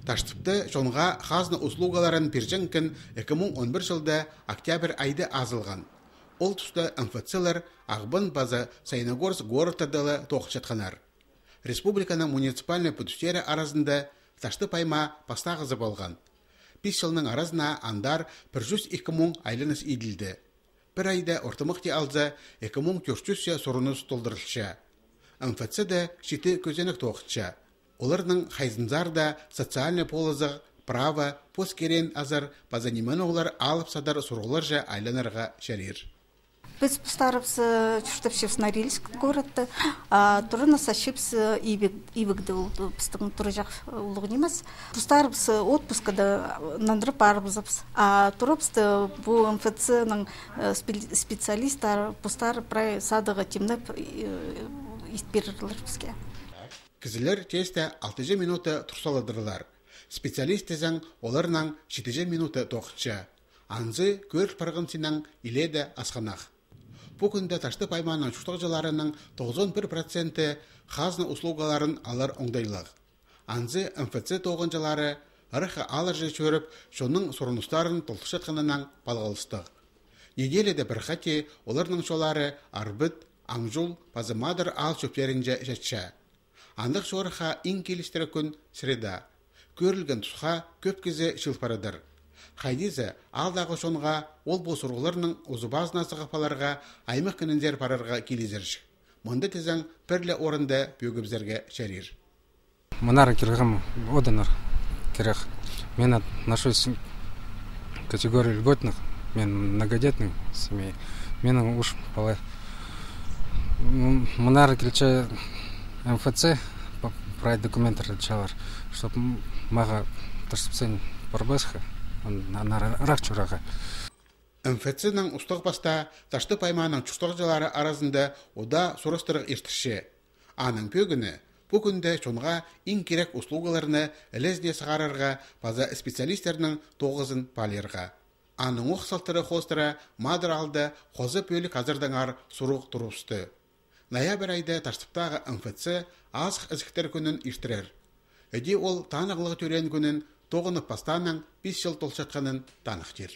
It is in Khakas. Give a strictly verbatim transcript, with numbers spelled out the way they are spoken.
Таштыпта чонға хазна услугаларын пирҷең кӱн ікі муң он пір чылда октябрь айда азылған. Ол туста МФЦ-лар Ағбан паза Саяногорск городтарда ла тоғынчатханнар. Республиканың муниципальнай пӱдістері аразында Таштып аймаа пастағызы полған. Пис чылның аразына андар пір чӱс ікі муң айланыс иділді. Пір айда ортымахти алза, ікі муң тӧрт чӱс сурыныс толдырылча. МФЦ-да читі кӧзенек тоғынча. Оларның хайзынзар даа социальнай полызығ, право, пос киреен азар паза ниме-ноо алып садар сурығларҷа айланарға чарир. Піс постарыбыс, э, чуртапчабыс Норильск городта, а тураны сасчабыс, э, Ивек-, Ивекте, ол пістің тураҷах, э, улуғ нимес. Постарыбыс, э, отпускада, э, нандырып парыбызыбыс. А турабысты пу МФЦ-ның, э, спе-, специалисттары постары прай садығ тимнеп, э, ит пирерлер піске. Кізілер тесте алтыҷа минута турсаладырлар. Специалист тізең оларнаң читіҷе минута тоғынча. Анзы кӧріл парғанзынаң илееде асхынах. Пу кӱнде Таштып аймааның чуртағҷыларының тоғызон пір проценті хазна услугаларын алар оңдайлығ. Анзы МФЦ тоғынҷылары ыраххы аалларҷа чӧріп, чонның сурыныстарын толдырчатханынаң палғалыстығ. Неделяда пір хати оларның чоллары Арбыт, Аңҷул паза Мадар аал чӧптерінҷе чатча. Андағ чорыхха иң килістіре кӱн среда. Кӧрілген тусха кӧп кізі чыыл парадыр. Хайди за аалдағы чонға ол-пу сурығларның узы-пазына сығып аларға аймах кінінзер парарға килізерҷік. Мында тізең пір ле орында пӧгібізерге чарир. Мынар килгем одынар кирек. Мен отношусь к категории льготных, мен многодетный семья. Менің үш пала. М, мынар килче МФЦ, п-, прай документтер чалар, чтоб м-, мағаа Таштыпсен парбасха, ан-, анар ырах чурарға. МФЦ-ның устағ пастаа Таштып аймааның чуртағҷылары аразында удаа сурастырығ иртірче. Аның пӧгіні пу кӱнде чонға иң кирек услугаларны ілезіне сығарарға паза специалистернің тоғызын паалирға. Аның ох салтары хоостыра Мадар аалда хоза пӧлік азардаңар сурығ турыбысты. Ноябрь айда Таштыптағы МФЦ азых ізіктер кӱнін иртірер. Іди ол танығлығ тӧреен кӱнін тоғынып пастаанаң пис чыл толчатханын таныхтир.